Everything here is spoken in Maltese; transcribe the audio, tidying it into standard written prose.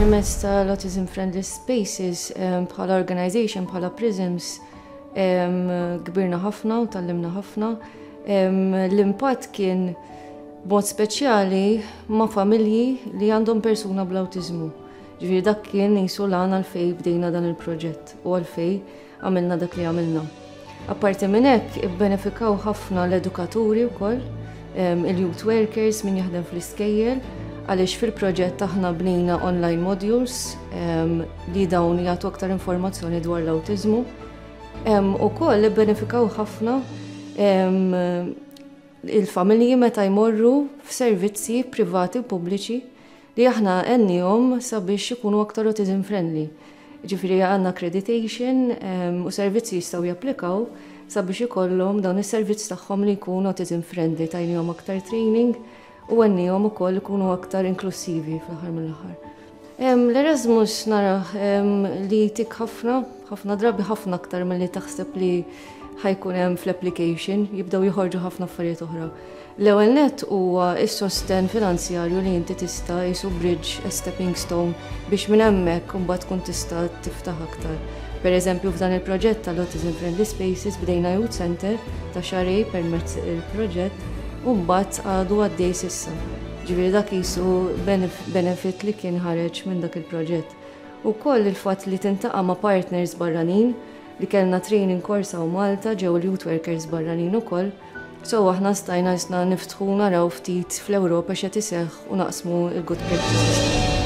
Permezz tal-Autism Friendly Spaces bħala organization, bħala Prisms, kbirna ħafna u tgħallimna ħafna. L-impatt kien b'mod speċjali ma' familji li għandhom persuna bl-awtiżmu. Ġifieri dak kien qisu l-għan għalfejn bdejna dan il-proġett u għalfejn għamilna dak li għamilna. Apparti minn hekk, ibbenefikaw ħafna l-edukaturi wkoll, il-youth workers, min jaħdem fl-iskejjel, għaliex fil-proġett aħna bnejna online modules li dawn jagħtu aktar informazzjoni dwar l-awtiżmu. Ukoll ibbenefikaw ħafna il-familji meta jmorru f'servizzi privati u pubbliċi li aħna għennihom sabiex ikunu aktar autism friendly. Ġifieri għandna accreditation u servizzi jistgħu japplikaw sabiex ikollhom dawn is-servizz tagħhom li jkun autism friendly, tajnihom aktar training u għennihom ukoll ikunu aktar inklusivi fl-aħħar mill-aħħar. L-Erasmus narah li jtik ħafna, ħafna drabi ħafna aktar milli taħseb li ħa jkun hemm fl-application, jibdew joħorġu ħafna affarijiet oħra. L-ewwel nett huwa s-sostenn finanzjarju li inti tista' qisu bridge, a stepping stone biex minn hemmhekk imbagħad tkun tista' tiftaħ aktar. Per eżempju f'dan il-proġett tal-Autism Friendly Spaces bdejna youth center ta' xahrejn permezz il-proġett u mbagħad għadu għaddej s'issa. Ġifieri dak qisu benefit li kien ħareġ minn dak il-proġett. Ukoll il-fatt li tintaqa' ma' partners barranin li kellna training course hawn Malta ġew il-youth workers barranin ukoll, so aħna stajna jisna niftħu naraw ftit fl-Ewropa x'qed iseħħ u naqsmu l-good practices.